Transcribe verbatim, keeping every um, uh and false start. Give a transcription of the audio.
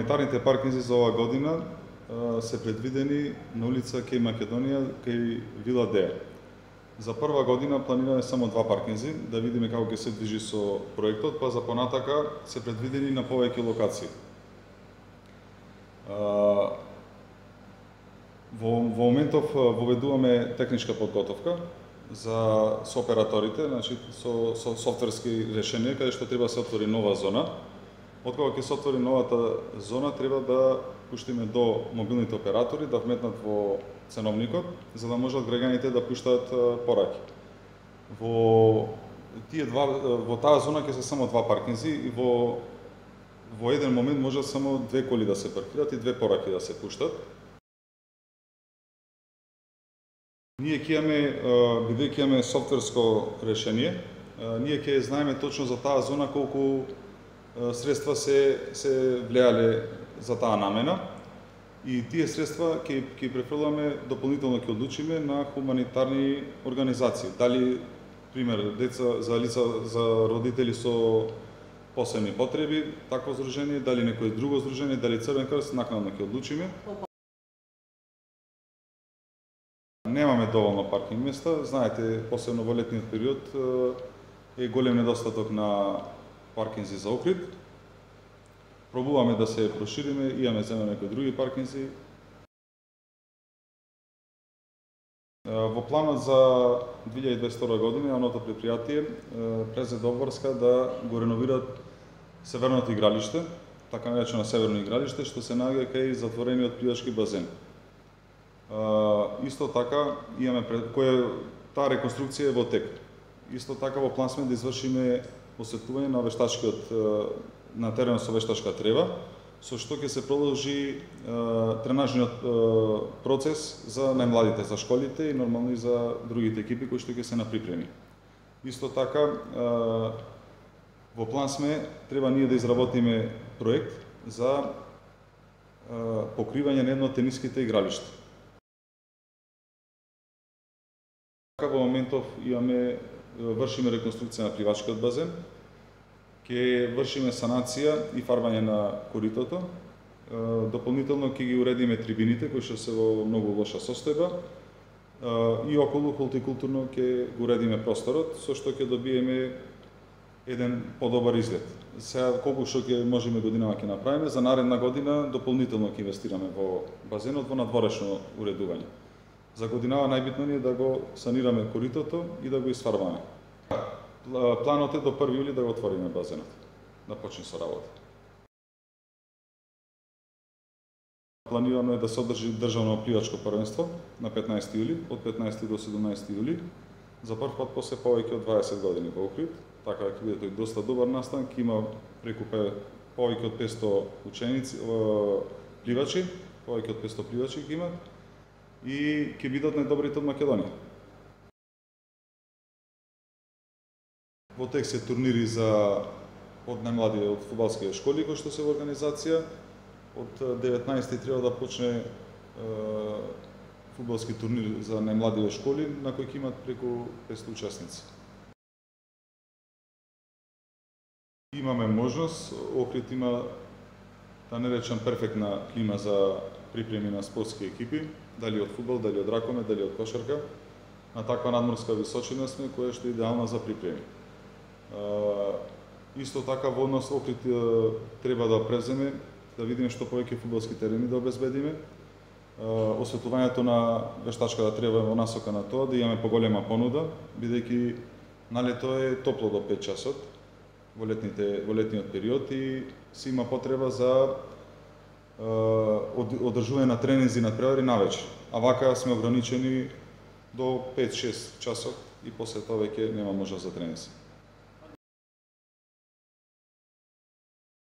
хуманитарните паркинзи за оваа година се предвидени на улица Кеј Македонија, кај Вила Деја. За прва година планираме само два паркинзи, да видиме како ќе се движи со проектот, па за понатака се предвидени на повеќе локации. Во, во моментов воведуваме техничка подготовка за со операторите, значи со, со софтверски решенија, каде што треба се отвори нова зона. Откога ќе се отвори новата зона, треба да пуштиме до мобилните оператори да вметнат во ценовникот, за да можат граѓаните да пуштаат пораки. Во тие два во таа зона ќе се само два паркинзи и во во еден момент може само две коли да се паркираат и две пораки да се пуштат. Ние ќе имаме, бидејќи имаме софтверско решение, ние ќе знаеме точно за таа зона колку средства се се влеале за таа намена и тие средства ќе ќе префрламе дополнително, ќе одлучиме на хуманитарни организации. Дали пример деца за лица за родители со посебни потреби, такво здружение, дали некое друго здружение, дали Црвен крст, накнадно ќе одлучиме. Немаме доволно паркинг места, знаете, посебно во летниот период е голем недостаток на паркинзи за Охрид. Пробуваме да се прошириме, имаме земе некои други паркинзи. Во планот за две илјади и дваесет и втора година јавното предпријатие презеде обврска да го реновираат северното игралиште, така наречено северно игралиште, што се наоѓа кај затворениот пливачки базен. Исто така имаме која таа реконструкција е во тек. Исто така во план сме да извршиме осветлување на вештачкиот на теренот со вештачка трева, со што ќе се продолжи тренажниот процес за најмладите, за школите и нормално и за другите екипи кои што ќе се на припреми. Исто така во план сме треба ние да изработиме проект за покривање на едно од тениските игралишта. Во моментов имаме вршиме реконструкција на пливачкиот базен, ќе вршиме санација и фарбање на коритото, дополнително ќе ги уредиме трибините кои што се во многу лоша состојба и околу холтикултурно ќе го уредиме просторот, со што ќе добиеме еден подобар изглед. Сега колку што ќе можеме годинава ќе направиме, за наредна година дополнително ќе инвестираме во базенот, во надворешно уредување. За годинава најбитно ни е да го санираме коритото и да го изфарбаме. Планот е до први јули да го отвориме базенот, да почне со работа. Планирано е да се одржи државно пливачко првенство на петнаесети јули, од петнаесети до седумнаесети јули, за прв пат после повеќе од дваесет години во Охрид. Така ќе биде тој доста добар настан, ќе има преку повеќе од петсто ученици, пливачи, повеќе од петсто пливачи ќе имат и ќе бидат најдобрите од Македонија. Во тек се турнири за од најмлади од фудбалски школи кои што се во организација. Од деветнаесети треба да почне е, фудбалски турнир за најмлади школи на кои ќе имат преку петсто учесници. Имаме можност, Охрид има, да не речам, перфектна клима за припреми на спортски екипи, дали од фудбал, дали од ракомет, дали од кошарка. На таква надморска височина сме, која што е идеална за припреми. Исто така во однос Охрид треба да преземе, да видиме што повеќе фудбалски терени да обезбедиме. Осветлувањето на вештачката трева во насока на тоа, да имаме поголема понуда, бидејќи на лето е топло до пет часот во летните во летниот период и се има потреба за одржување на тренинзи на надпревари навечер. А вака сме ограничени до пет-шест часот и после тоа веќе нема можност за тренинзи.